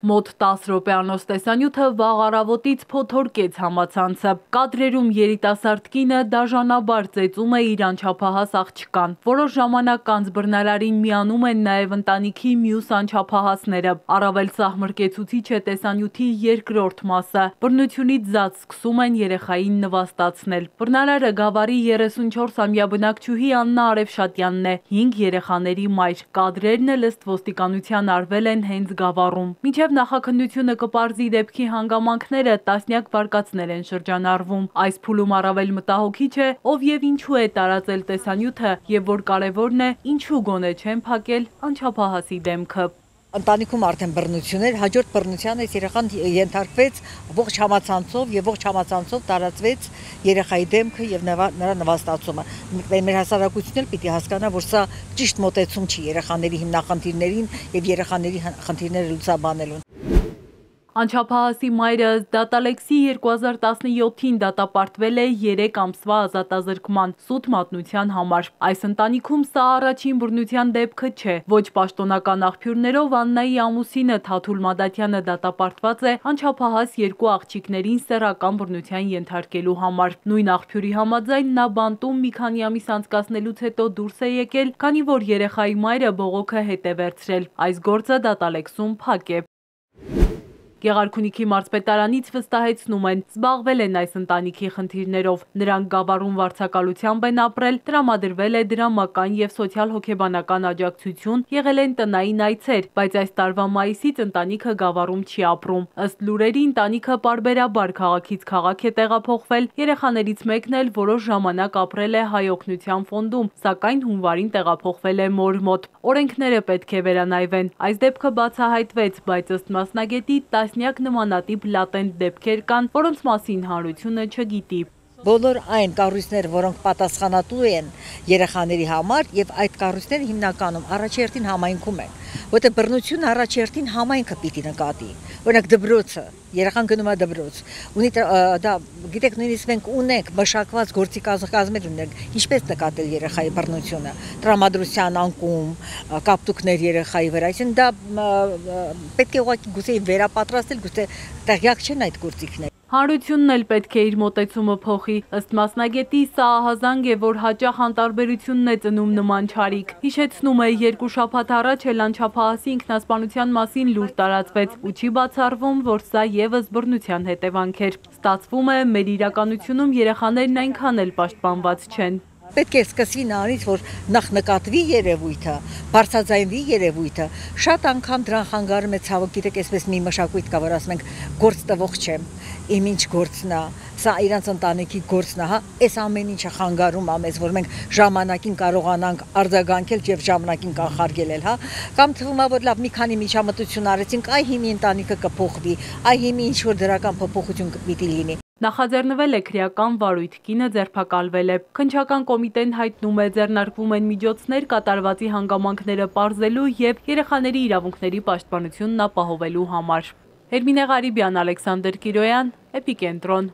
Մոտ 10 րոպեանոց տեսանյութը վաղ առավոտից փոթորկեց համացանցը։ Կադրերում երիտասարդ կինը դաժանաբար ծեծում է իր անչափահաս աղջկան։ Որոշ ժամանակ անց բռնարարին միանում են նաև ընտանիքի մյուս անչափահասները։ Առավել սահմռկեցուցիչ է տեսանյութի երկրորդ մասը։ Բռնությունից զատ սկսում են երեխային նվաստացնել։ Բռնարարը Գավառի 34-ամյա բնակչուհի Աննա Արևշատյանն է, 5 երեխաների մայր։ Կադրերն էլ ըստ ոստիկանության արվել են հենց Գավառում։ Մինչև նախաքննությունը կպարզի դեպքի հանգամանքները, տասնյակ վարկածներ են շրջանառվում։ Այս փուլում առավել մտահոգիչ է, ով եւ ինչու է տարածել տեսանյութը եւ որ կարեւորն է, ինչու գոնե չեն փակել անչափահասի դեմքը։ Ընտանիքում արդեն բռնություն էր, հաջորդ բռնության այս երեխան ենթարկվեց ողջ համացանցով եւ ողջ համացանցով տարածվեց երեխայի դեմքը եւ նրա նվաստացումը։ Մեր հասարակությունն էլ պիտի հասկանա, որ սա ճիշտ մոտեցում չի երեխաների հիմնախնդիրներին եւ երեխաների խնդիրները լուծաբանելուն։ Անչափահասի մայրը դատալեքսի 2017-ին դատապարտվել է 3 ամսվա ազատազրկման սուտ մատնության համար։ Այս ընտանիքում սա առաջին բռնության դեպքը չէ։ Ոչ պաշտոնական աղբյուրներով Աննայի ամուսինը Թաթուլ Մադաթյանը դատապարտված է անչափահաս 2 աղջիկներին սեռական բռնության ենթարկելու համար։ Նույն աղբյուրի համաձայն նա բանտում մի քանի ամիս անցկացնելուց հետո դուրս է եկել, քանի որ երեխայի մայրը բողոքը հետ է վերցրել։ Այս գործը դատալեքսում փակ է։ Գեղարքունիքի մարզպետարանից վստահեցնում են, զբաղվել են այս ընտանիքի խնդիրներով։ Նրանք Գավառում վարձակալությամբ են ապրել, տրամադրվել է դրամական եւ սոցիալ-հոգեբանական աջակցություն, եղել են տնային այցեր, բայց այս տարվա մայիսից ընտանիքը Գավառում չի ապրում։ Ըստ լուրերի ընտանիքը պարբերաբար քաղաքից քաղաք է տեղափոխվել, երեխաներից մեկն էլ որոշ ժամանակ ապրել է Հայ օգնության ֆոնդում, սակայն հունվարին տեղափոխվել է մոր մոտ։ Օրենքները պետք է վերանայվեն։ Այս դեպքը բացահայտվեց, բայց ըստ մասնագետի տասնյակ նմանատիպ լատենտ դեպքեր կան, որոնց մասին հանրությունը չգիտի։ Բոլոր այն կառույցները, որոնք պատասխանատու են երեխաների համար, եւ այդ կառույցները հիմնականում առաջերտին համայնքում են, որտեղ բռնությունը առաջերտին համայնքը պիտի նկատի։ Օրինակ դպրոցը, երեխան գնում է դպրոց, ունի դա գիտեք, նույնիսկ մենք ունենք մշակված գործի կազմեր ունենք, ինչպես նկատել երեխայի բռնությունը, տրամադրության անկում, կապտուկներ երեխայի վրա, այսինքն դա պետք է ուղղակի գուցե վերապատրաստել, գուցե տեղյակ չեն այդ գործիքները։ Հանրությունն էլ պետք է իր մոտեցումը փոխի։ Ըստ մասնագետի սա ահազանգ է, որ հաճախ անտարբերությունն է ծնում նման չարիք։ Հիշեցնում է, 2 շաբաթ առաջ էլ անչափահասի ինքնասպանության մասին լուր տարածվեց ու չի բացառվում, որ սա եւս բռնության հետևանք էր։ Ստացվում է, մեր իրականությունում երեխաներն այնքան էլ պաշտպանված չեն։ Պետք է սկսվի նրանից, որ նախ նկատվի երևույթը, բարձրաձայնվի երևույթը, շատ անգամ դրան խանգարում է ցավոք, գիտեք, այսպես մի մշակույթ կա, որ ասում ենք գործ տվող չեմ, իմ ինչ գործն է, սա իրանց ընտանիքի գործն է, հա, այս ամեն ինչը խանգարում է մեզ, որ մենք ժամանակին կարողանանք արձագանքել եւ ժամանակին կանխարգելել, հա, կամ թվում է, որ լավ մի քանի միջամտություն արեցինք, այ հիմի ընտանիքը կփոխվի, այ հիմի ինչ որ դրական փոփոխություն պիտի լինի։ Նախաձեռնվել է քրեական վարույթ, կինը ձերբակալվել է։ Քննչական կոմիտեն հայտնում է, ձեռնարկվում են միջոցներ կատարվածի հանգամանքները պարզելու եւ երեխաների իրավունքների պաշտպանությունն ապահովելու համար։ Հերմինե Ղարիբյան, Ալեքսանդր Կիրոյան, Էպիկենտրոն։